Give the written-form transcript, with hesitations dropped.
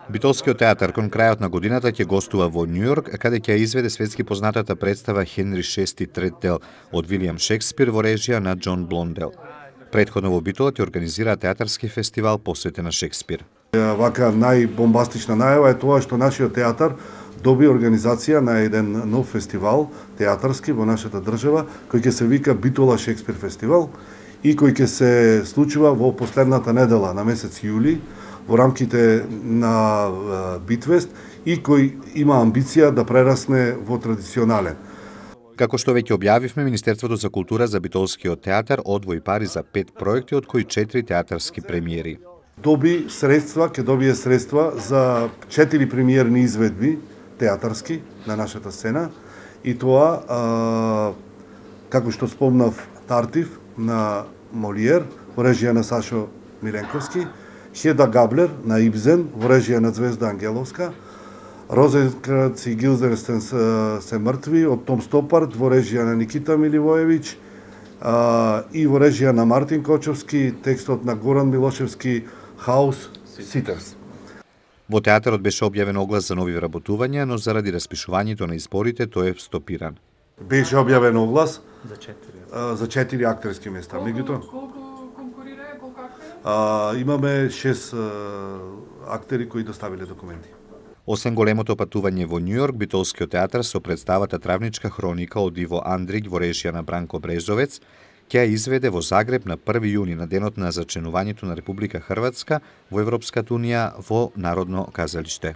Битолскиот театар кон крајот на годината ќе гостува во Њујорк, каде ќе изведе светски познатата представа Хенри VI Третдел од Вилијам Шекспир во режија на Џон Блондел. Предходно во Битола ќе организира театарски фестивал посветен на Шекспир. Вака најбомбастична најава е тоа што нашиот театар доби организација на еден нов фестивал театарски во нашата држава, кој ќе се вика Битола Шекспир фестивал и кој ќе се случува во последната недела на месец јули во рамките на Битвест и кој има амбиција да прерасне во традиционален. Како што веќе објавивме, Министерството за култура за Битолскиот театар одвои пари за 5 проекти, од кои 4 театарски премиери. Ќе добие средства за 4 премиерни изведби театарски на нашата сцена и тоа, како што спомнав, Тартив на Молиер во режија на Сашо Миленковски, Хеда Габлер на Ибзен во режија на Звезда Ангеловска, Розенкранц и Гилденстерн се мртви од Том Стопард во режија на Никита Миливоевич и во режија на Мартин Кочовски, текстот на Горан Милошевски, Хаус Ситерс. Во театарот беше објавен оглас за нови вработувања, но заради распишувањето на изборите тој е стопиран. Беше објавен оглас за 4 актерски места. Меѓутоа имаме 6 актери кои доставиле документи. Освен големото патување во Њујорк, Битолскиот театар со представата Травничка хроника од Иво Андрич во режија на Бранко Брезовец ќе ја изведе во Загреб на 1 јуни на денот на зачленувањето на Република Хрватска во Европската унија во Народно казалиште.